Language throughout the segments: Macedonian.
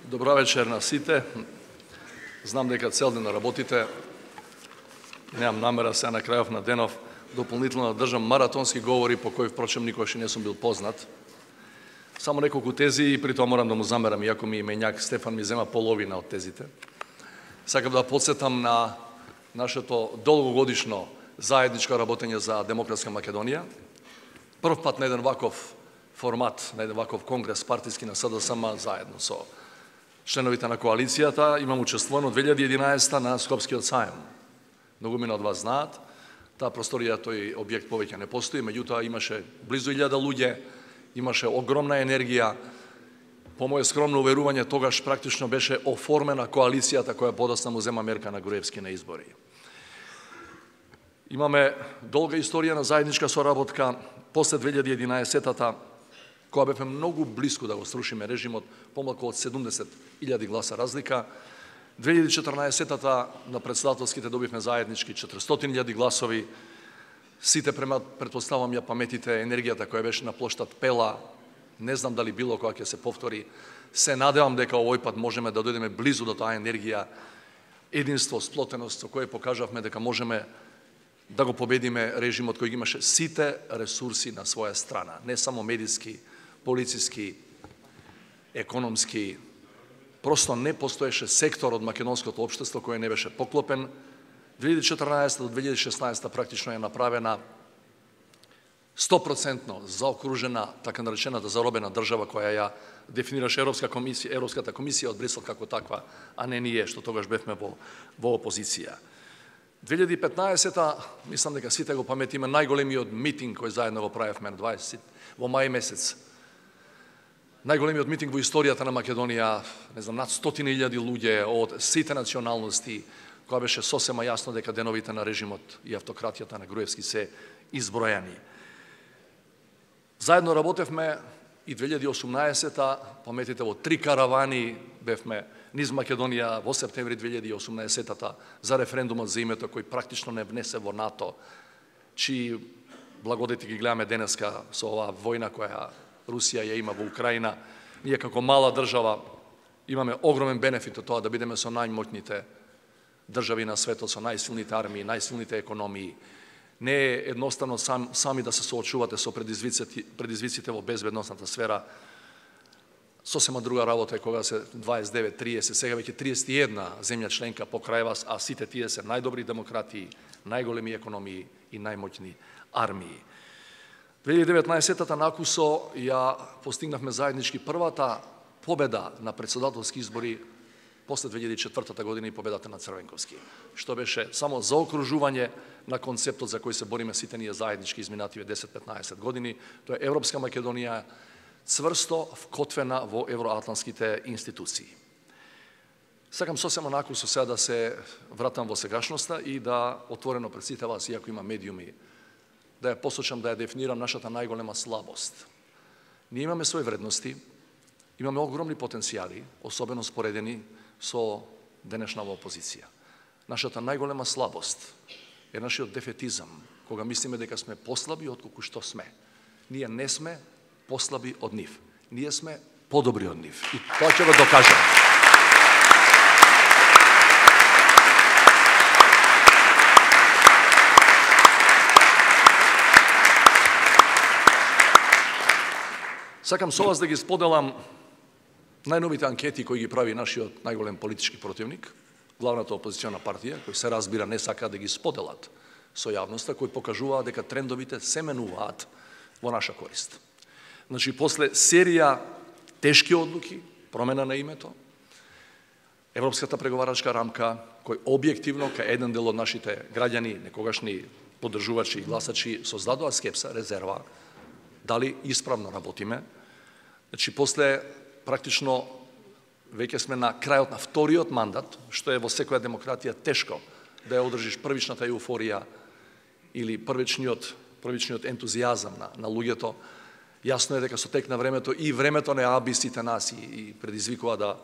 Добра вечер на сите. Знам дека цел ден работите. Немам намера се на крајов на денов дополнително да држам маратонски говори по кои впрочем никогаш не сум бил познат. Само неколку тези и при тоа морам да му замерам, иако ми именјак Стефан ми зема половина од тезите. Сакам да подсетам на нашето долгогодишно заедничко работење за Демократска Македонија. Прв пат на еден ваков формат, на еден ваков конгрес партиски на СДСМ заедно со членовите на коалицијата, имам учествувано 2011 на Скопскиот сајм. Многу мина од вас знаат, таа просторија, тој објект повеќе не постои, меѓутоа имаше близу 1000 луѓе, имаше огромна енергија. По моје скромно уверување, тогаш практично беше оформена коалицијата која подоцна му зема мерка на Груевски на избори. Имаме долга историја на заедничка соработка после 2011-та, која бевме многу близко да го срушиме режимот, помалку од 70.000 гласа разлика. 2014-та на председателските добивме заеднички 400.000 гласови. Сите претпоставам ја паметите енергијата која беше на плоштад Пела. Не знам дали било која ќе се повтори. Се надевам дека овој пат можеме да дојдеме близу до таа енергија, единство, сплотеност со која покажавме дека можеме да го победиме режимот кој ги имаше сите ресурси на своја страна, не само медиски, полициски, економски. Просто не постоеше сектор од македонското општество кој не беше поклопен. 2014 до 2016 практично е направена 100% заокружена, така наречената заробена држава која ја дефинираше Европската комисија од Брисел како таква, а не ние што тогаш бевме во опозиција. 2015-та, мислам дека сите го паметиме, најголемиот митинг кој заедно го правевме во мај месец. Најголемиот митинг во историјата на Македонија, не знам, над 100.000 луѓе од сите националности, која беше сосема јасно дека деновите на режимот и автократијата на Груевски се избројани. Заедно работевме и 2018-та, паметите, во 3 каравани бевме низ Македонија во септември 2018-та за референдумот за името кој практично не внесе во НАТО, чии благодети ги гледаме денеска со оваа војна која Русија ја има во Украина. Ние како мала држава имаме огромен бенефит од тоа да бидеме со најмоќните држави на светот, со најсилните армии, најсилните економии. Не е едноставно сами да се соочувате со предизвиците во безбедносната сфера. Сосема друга работа е кога се 29, 30, сега веќе 31 земја членка покрај вас, а сите тие се најдобри демократии, најголеми економии и најмоќни армии. 2019-та на Акусо ја постигнавме заеднички првата победа на председателски избори после 2004 година и победата на Црвенковски, што беше само заокружување на концептот за кој се бориме сите ние заеднички изминативе 10-15 години. Тоа е Европска Македонија цврсто вкотвена во евроатлантските институции. Сакам сосема на Акусо сега да се вратам во сегашноста и да отворено пред сите вас, иако има медиуми, да ја посочам, да ја дефинирам нашата најголема слабост. Ние имаме своји вредности, имаме огромни потенцијали, особено споредени со денешнава опозиција. Нашата најголема слабост е нашиот дефетизам, кога мислиме дека сме послаби отколку што сме. Ние не сме послаби од нив. Ние сме подобри од нив. И тоа ќе го докажем. Сакам со вас да ги споделам најновите анкети кои ги прави нашиот најголем политички противник, главната опозициона партија, кои се разбира не сака да ги споделат со јавноста, кои покажуваат дека трендовите се менуваат во наша корист. Значи, после серија тешки одлуки, промена на името, Европската преговарачка рамка, кој објективно кај еден дел од нашите граѓани, некогашни поддржувачи и гласачи, создадоа скепса, резерва, дали исправно работиме. Значи, после практично веќе сме на крајот на вториот мандат, што е во секоја демократија тешко да ја одржиш првичната еуфорија или првичниот ентузијазам на луѓето. Јасно е дека со тек на времето и времето не аби сите нас и предизвикува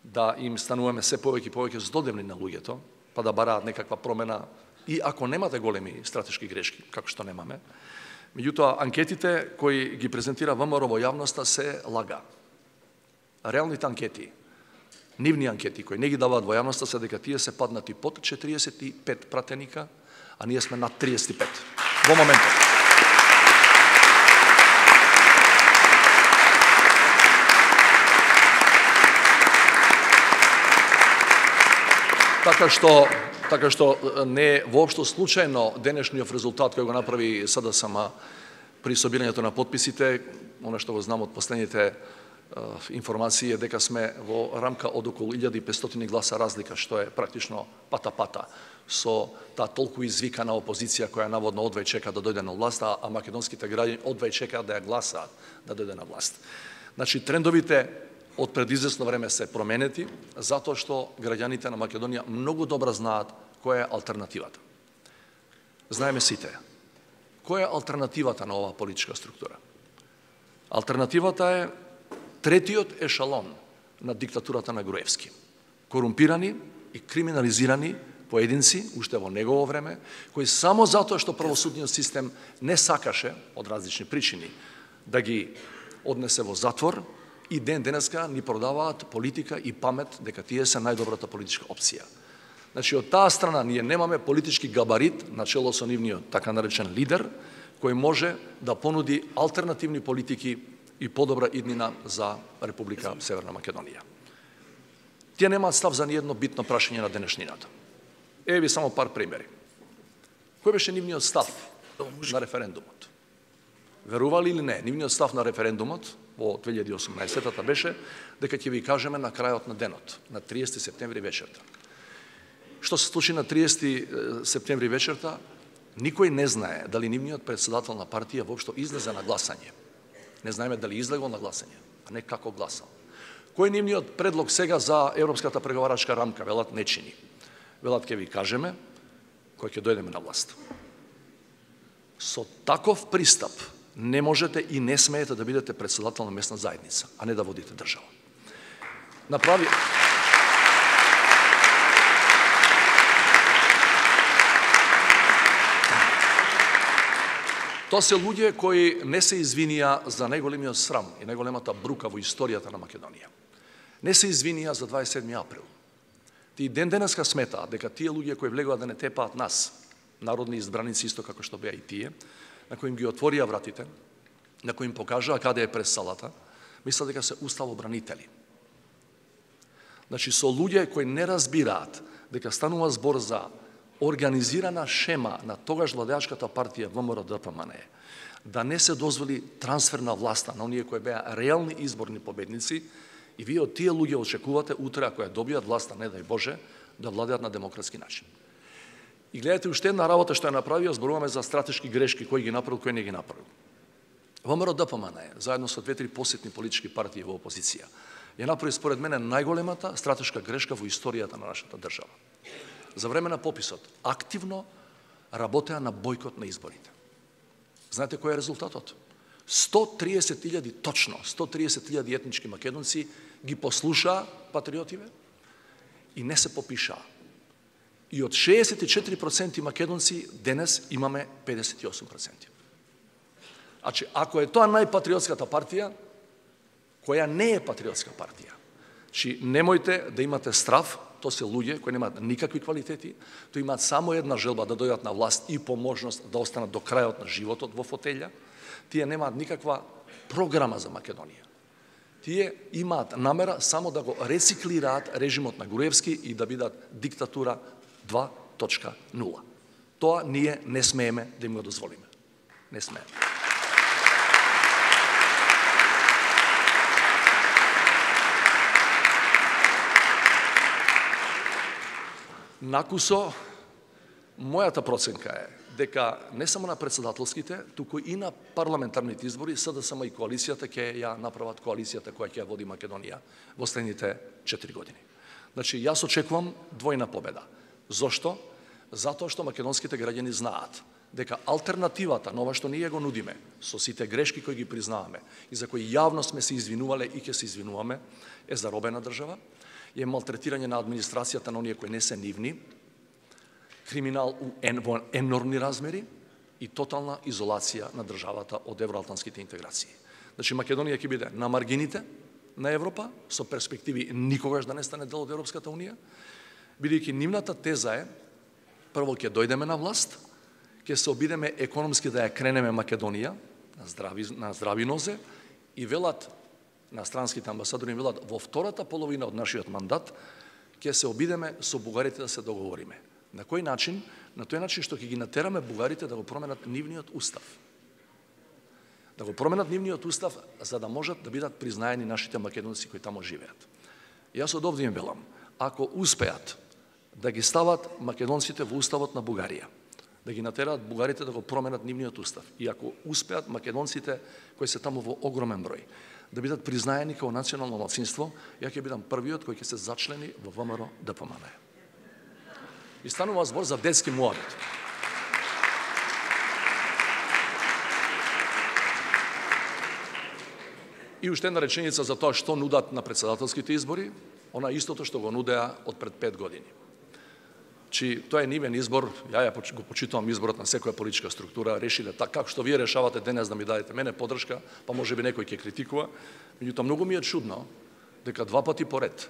да им стануваме се повеќе и повеќе здодевни на луѓето, па да бараат некаква промена, и ако немате големи стратешки грешки, како што немаме. Меѓутоа, анкетите кои ги презентира ВМРО во јавноста се лага. Реалните анкети нивни анкети кои не ги даваат во јавноста се дека тие се паднати под 45 пратеника, а ние сме над 35 во моментот. Така што не е воопшто случајно денешниот резултат кој го направи СДСМ при собирањето на подписите, она што го знам од последните информации е дека сме во рамка од околу 1500 гласа разлика, што е практично пата-пата со таа толку извикана опозиција која наводно одвај чека да дојде на власт, а македонските граѓани одвај чекаат да ја гласаат да дојде на власт. Значи, трендовите од пред извесно време се променети, затоа што граѓаните на Македонија многу добро знаат која е алтернативата. Знаеме сите. Која е алтернативата на оваа политичка структура? Алтернативата е третиот ешалон на диктатурата на Груевски. Корумпирани и криминализирани поединци, уште во негово време, кои само затоа што правосудниот систем не сакаше, од различни причини, да ги однесе во затвор, и денеска ни продаваат политика и памет дека тие се најдобрата политичка опција. Значи, од таа страна ние немаме политички габарит, начело со нивниот така наречен лидер, кој може да понуди алтернативни политики и подобра иднина за Република Северна Македонија. Тие немаат став за ниедно битно прашање на денешнината. Еве ви само пар примери. Кој беше нивниот став на референдумот? Верували или не, нивниот став на референдумот во 2018-та беше дека ќе ви кажеме на крајот на денот, на 30 септември вечерта. Што се случи на 30 септември вечерта, никој не знае дали нивниот председател на партија воопшто излезе на гласање. Не знаеме дали излегол на гласање, а не како гласал. Кој е нивниот предлог сега за европската преговарачка рамка? Велат не чини. Велат ќе ви кажеме кој ќе дојдеме на власт. Со таков пристап не можете и не смеете да бидете председател на местна заедница, а не да водите држава. Направи... Тоа се луѓе кои не се извинија за најголемиот срам и најголемата брука во историјата на Македонија. Не се извинија за 27. април. Тие денеска сметаат дека тие луѓе кои влегуваат да не тепаат нас, народни избраници исто како што беа и тие, на кои им ги отворија вратите, на кои им покажаа каде е през салата, мислат дека се уставобранители. Значи, со луѓе кои не разбираат дека станува збор за организирана шема на тогаш владеачката партија ВМРО-ДПМН да не се дозволи трансфер на власта на оние кои беа реални изборни победници, и вие од тие луѓе очекувате утре, ако ја добијат власта, не дај Боже, да владеат на демократски начин. И гледате уште една работа што ја направио, зборуваме за стратешки грешки, кој ги направил, кој не ги направил. ВМРО-ДПМН заедно со 2-3 посетни политички партии во опозиција ја направи според мене најголемата стратешка грешка во историјата на нашата држава. За време на пописот активно работеа на бојкот на изборите. Знаете кој е резултатот? 130.000, точно 130.000 етнички македонци ги послушаа патриотиве и не се попишаа. И од 64% македонци денес имаме 58%. Значи, ако е тоа најпатриотската партија, која не е патриотска партија, значи немојте да имате страв, тоа се луѓе кои немаат никакви квалитети, тој имаат само една желба да дојдат на власт и по можност да останат до крајот на животот во фотелја. Тие немаат никаква програма за Македонија. Тие имаат намера само да го рециклираат режимот на Груевски и да бидат диктатура 2.0. Тоа ние не смееме да им го дозволиме. Не смееме. Накусо, мојата проценка е дека не само на председателските, туку и на парламентарните избори СДСМ и коалицијата ќе ја направат коалицијата која ќе ја води Македонија во следните 4 години. Значи, јас очекувам двојна победа. Зошто? Затоа што македонските граѓани знаат дека алтернативата на ова што ние го нудиме, со сите грешки кои ги признаваме и за кои јавно сме се извинувале и ќе се извинуваме, е заробена држава, е малтретирање на администрацијата на оние кои не се нивни, криминал во енормни размери и тотална изолација на државата од евроатлантските интеграции. Значи, Македонија ќе биде на маргините, на Европа, со перспективи никогаш да не стане дел од Европската Унија, бидејќи нивната теза е, прво ќе дојдеме на власт, ќе се обидеме економски да ја кренеме Македонија на здрави нозе и велат на странските амбасадори велат во втората половина од нашиот мандат ќе се обидеме со бугарите да се договориме. На кој начин? На тој начин што ќе ги натераме бугарите да го променат нивниот устав. Да го променат нивниот устав за да можат да бидат признаени нашите македонци кои тамо живеат. Јас од овде им велам, ако успеат да ги стават македонците во уставот на Бугарија, да ги натераат бугарите да го променат нивниот устав, и ако успеат македонците кои се таму во огромен број да бидат признаени како национално малцинство, ја ќе бидам првиот кој ќе се зачлени во ВМРО ДПМН. И станува збор за детски муабет. И уште една реченица за тоа што нудат на председателските избори, она истото што го нудеа од пред 5 години. Тоа е нивен избор, ја го почитувам изборот на секоја политичка структура, решиле така како што вие решавате денес да ми дадете мене поддршка, па можеби некој ќе критикува, меѓутоа многу ми е чудно дека 2 пати поред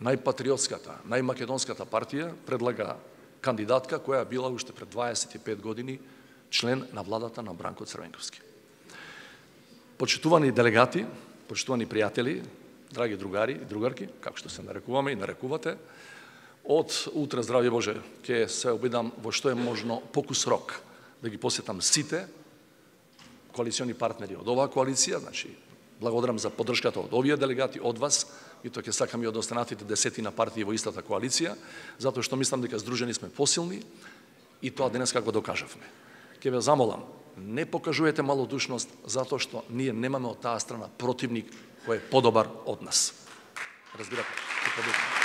најпатриотската, најмакедонската партија предлага кандидатка која била уште пред 25 години член на владата на Бранко Црвенковски. Почитувани делегати, почитувани пријатели, драги другари и другарки, како што се нарекуваме и нарекувате, од утре, здравје Боже, ќе се обидам во што е можно покус рок да ги посетам сите коалициони партнери од оваа коалиција, значи благодарам за поддршката од овие делегати, од вас, и тоа ќе сакам и од останатите 10 партии во истата коалиција, затоа што мислам дека здружени сме посилни и тоа денес како докажавме. Ќе ве замолам, не покажувате малодушност затоа што ние немаме од таа страна противник кој е подобар од нас. Разбирате?